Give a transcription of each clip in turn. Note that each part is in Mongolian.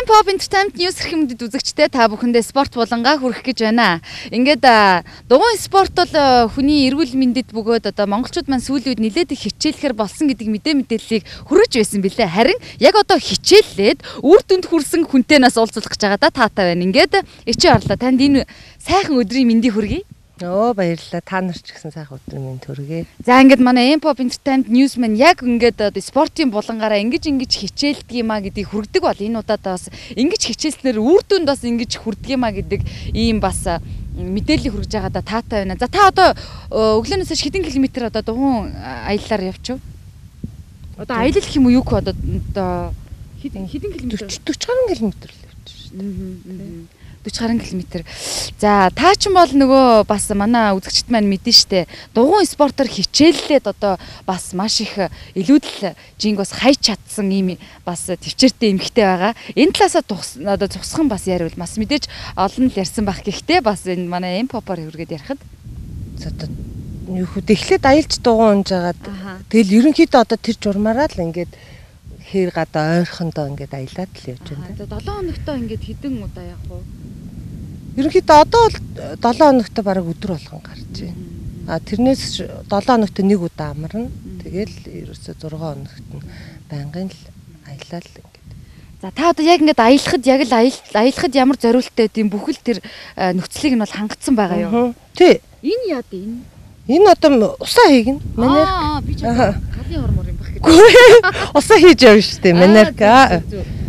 Pop Entertainment News хэрхэмдэд үзэгчтэй та бүхэндээ спорт булангаа хүргэх гэж байна. Ингээд дугуйн спорт бол хүний эрүүл мэндэд бөгөөд монголчууд маань сүүлийн үед нэлээд их хичээлэхэр болсон гэдэг мэдээллийг хүргэж байсан билээ. Харин яг хичээллээд үр дүнд хүрсэн хүнтэйнээс уулзах гэж байгаа таатай байна. Ингээд ичи орлоо. Танд энэ сайхан өдрийн мэндийг хүргэе. Баярлалаа. Та нар ч гэсэн сайхан өдрийн мэнд хүргэе. За ингээд манай Pop Entertainment News маань яг ингээд спортын булангаараа ингэж хичээлдэг юмаа гэдгийг хүргэдэг бол энэ удаад бас ингэж хичээлснээр үр дүнд бас ингэж хүрдэг юмаа гэдэг ийм бас мэдээлэл хүргэж байгаа таатай байна. За та өглөөнөөс хэдэн километр дугуйн аяллаар явчих вэ? Аялал гэх юм уу юу хөө хэдэн километр? 40 гаруй километр л явчих шүү дээ. 40 гаруй километр. За та ч юм бол нөгөө бас манай үзэгчд маань мэдэн штэ. Дугуйн спортоор хичээллээд бас маш их илүүдэл жинг бас хайж чадсан ийм бас төвчээртэй эмхтэй байгаа. Энэ талаасаа зогсхон бас яривал бас мэдээж олон л ярьсан байх. Гэхдээ бас энэ манай Pop-оор хүргээд ярихад юу хөө эхлээд аялж дугуй унж агаад тэгэл ерөнхийдөө тэр журмаараа л ингээд хэр гадаа ойрхондоо ингээд аялаад л явж байна. 7 хоногтоо ингээд хэдэн удаа явах вэ? Ерөнхийдөө одоо бол 7 хоногт бараг өдөр болгон гарч байна. Тэрнээс 7 хоногт нэг удаа амарна. Тэгэл ерөөсөө 6 хоногт нь байнгын л аялал ингээд. За та яг ингээд аялахад ямар зориулттай тийм бүхэл тэр нөхцөлийг нь бол хангацсан байгаа юу? Тий. Энэ яа дээ энэ? Энэ усаа хийгнэ. Манайх. Би ч галын хормор юм баг гэж. Усаа хийж явна шүү дээ. Манайх.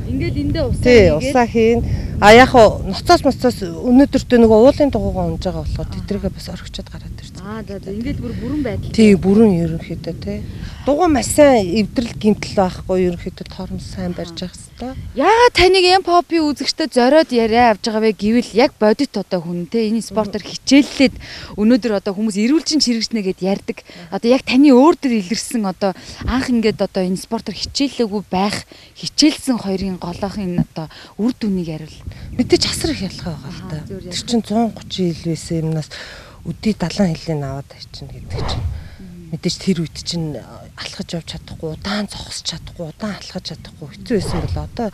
Ингээд эндээ усаа хийгээд. Тий, усаа хийн. Яг ноцоос өнөөдөртөө нөгөө уулын дугуйгаа унж байгаа болохоор тэдрийгээ бас орхичод гараад ирсэн. За ингээд бүрэн байдал. Тий, бүрэн ерөнхийдөө тий. Дугуй маш сайн эвдрэл гимтэл байхгүй ерөнхийдөө тоормс сайн барьж явах хэрэгтэй. Яагаад таныг Pop-ийн үзэгчтэй зориод яриа авч байгаа вэ гэвэл яг бодит хүн те энэ спортоор хичээллээд өнөөдөр хүмүүс эрүүлжин чирэгчнэ гэд ярьдаг. Яг таны өөр төр илэрсэн анх ингээд энэ спортоор хичээллээгүй байх хичээлсэн хоёрын голоох энэ үр дүнийг ярил. Мэдээж асар их ялгаа байгаа л да. Тэр чинь 130 жил байсан юмнаас өдий 70 жилийн аваад хайчихна гэдэг чинь. Мэдээж тэр үед чинь алхаж явж чадахгүй, удаан зогсож чадахгүй, удаан алхаж чадахгүй хэцүү байсан бол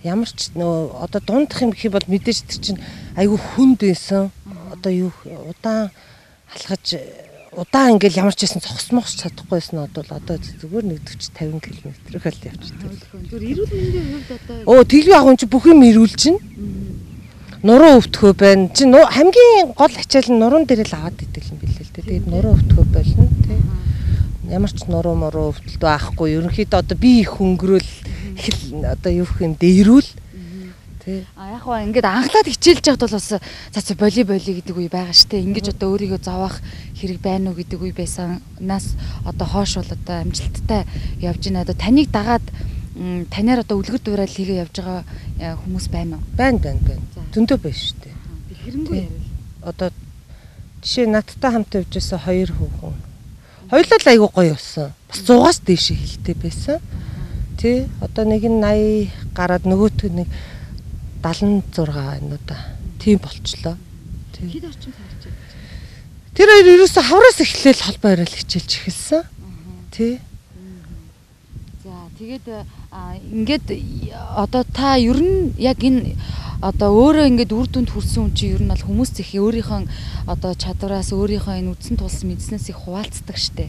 ямар ч дундах юм гэх юм бол мэдээж тэр чинь айгүй хүнд байсан. Юу удаан алхаж удаан ингээл ямар ч байсан зогсмохч чадахгүйсэн зүгээр нэг 40 50 км хөл явчихдаг. Зүгээр эрүүл мэндийн хувьд тэлгүй ахын чи бүх юм эрүүлж чинь. Нуруу өвтгөө байна. Чи хамгийн гол ачаал нь нуруунд дээр л аваад идэг юм билээ л дээ. Тэгээд нуруу өвтгөө болно тий. Ямар ч нуруу өвтөлт байхгүй. Ерөнхийдөө би их хөнгөрөөл юу гэх юм дээрүүл тий. Яг ингээд анхлаад хичээлж байхад бол бас боли гэдэг үе байгаа штэ. Ингэж өөрийгөө зовоох хэрэг байна уу гэдэг үе байсанаас хоош бол амжилттай явж байна. Таныг дагаад танаар үлгэр дуурайл хийгээ явж байгаа хүмүүс байна уу? Байна. Зөндөө байна шүү дээ. Хэрэнгүй ярил. Жишээ надтай хамт явж байсан 2 хүүхэн. Хоёулаа л айгүй гоё болсон. Бас 100-аас дээш хилтэй байсан. Тий. Нэг нь 80 гараад нөгөөтг нэг 76 байна уу да. Тийм болчлоо. Тий. Хэд орчим сарч байна? Тэр хоёр ерөөсө хавраас эхлээл холбоо яриад хичээлж эхэлсэн. Тий. Тэгээд ингээд та ер нь яг энэ өөрөө ингээд үр дүнд хүрсэн хүн чинь ер нь бол хүмүүс их өөрийнхөө чадвараас өөрийнхөө энэ үдсэн тулсан мэдснээс их хуваалцдаг штэ.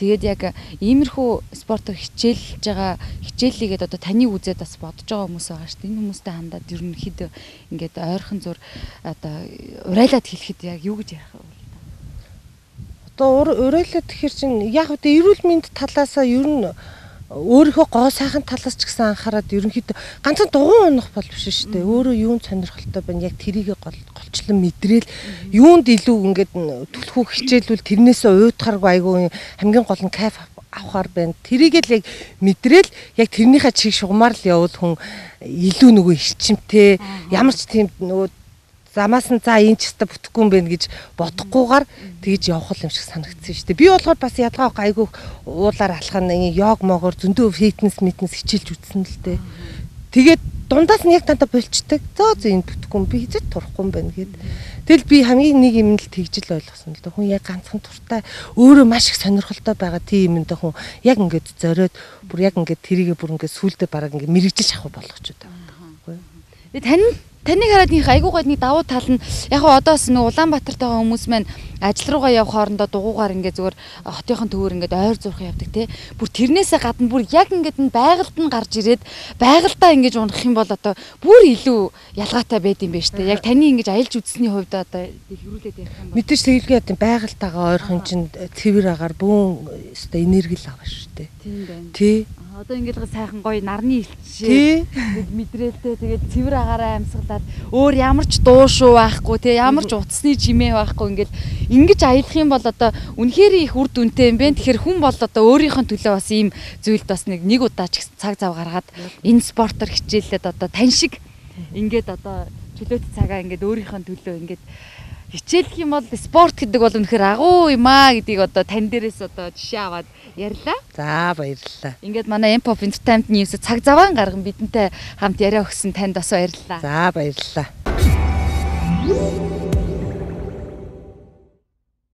Тэгээд яг иймэрхүү спортоор хичээлж байгаа хичээллийгээд таны үзээд бас бодож байгаа хүмүүс байгаа штэ. Энэ хүмүүстэй хандаад ер нь хэд ингээд ойрхон зур урайлаад хэлэхэд яг юу гэж ярих вэ? Урайлаад тэгэхээр чинь яг эрүүл мэнд талаасаа ер нь өөрийнхөө гоо сайхан талаас ч гэсэн анхаарад ерөнхийдөө ганцхан дугуй унах бол биш шүү дээ. Өөрөө юунд сонирхолтой байна яг тэрийг голчлон мэдрээл юунд илүү ингээд түлхүү хичээлүүл тэрнээсээ уйдахаргүй айгүй хамгийн гол нь кайф авахар байна. Тэрийг л яг мэдрээл яг тэрнийхээ чиг шугамар л явуул хүн илүү нөгөө ирчимтэй ямар ч тийм нөгөө замаас нь энэ ч өстө бүтэхгүй юм байна гэж бодохгүйгээр тэгж явах юм шиг санагдсан шүү дээ. Би болохоор бас ядгаа айгүй уулаар алхах нь йог могоор зөндөө фитнес хичээлж үзсэн л дээ. Тэгээд дундаас нь яг тантаа болчдаг. Энэ бүтэхгүй юм би хэзээ турахгүй юм байна гэд. Тэгэл би хамгийн нэг юм л тэгжил ойлгосон л дээ. Хүн яг ганцхан туртай өөрөө маш их сонирхолтой байгаа тийм юм даа хүн яг ингээд зориод бүр яг ингээд тэрийгэ бүр ингээд сүулдэ бараг ингээд мэрэгжилж авах болгоч удаа. Таныг хараад нэг айгуу гой нэг давуу тал нь яг хаа одоос нэг Улаанбаатарт байгаа хүмүүс маань ажил руугаа явах хоорондоо дугуугаар ингээд зүгээр хотынхон төвөр ингээд ойр зурх явдаг те. Бүр тэрнээсээ гадна бүр яг ингээд байгальд нь гарч ирээд байгальдаа ингэж унах юм бол одоо бүр илүү ялгаатай байд юм байна штэ. Яг таны ингэж аялж үзсний хувьд одоо хэрүүлээд ярих юм бол мэдээж тэгэлгүй ядын байгальтайгаа ойрхон чинь цэвэр агаар бүүн өстой энерги л авах штэ. Тийм байна. Тий. Одоо ингээд сайхан гоё нарны илчээ мэдрээлтэй тэгээд цэвэр агаараа амьсгалаад өөр ямар ч дуу шуу байхгүй тий ямар ч утасны жимээ байхгүй ингэж аялах юм бол одоо үнэхээр их үр дүнтэй юм бэ. Тэгэхээр хүн бол одоо өөрийнхөө төлөө бас ийм зүйлд бас нэг удаа ч цаг зав гаргаад энэ спортоор хичээлээд одоо тань шиг ингээд одоо чөлөөт цагаа ингээд өөрийнхөө төлөө ингээд хичээлэх юм бол спорт гэдэг бол үнэхээр агуу юм аа гэдгийг одоо тань дээрээс одоо жишээ аваад ярьлаа. За баярлалаа. Ингээд манай Empop Entertainment News цаг заваан гарган бидэнтэй хамт яриа өгсөн танд бас баярлалаа. За баярлалаа.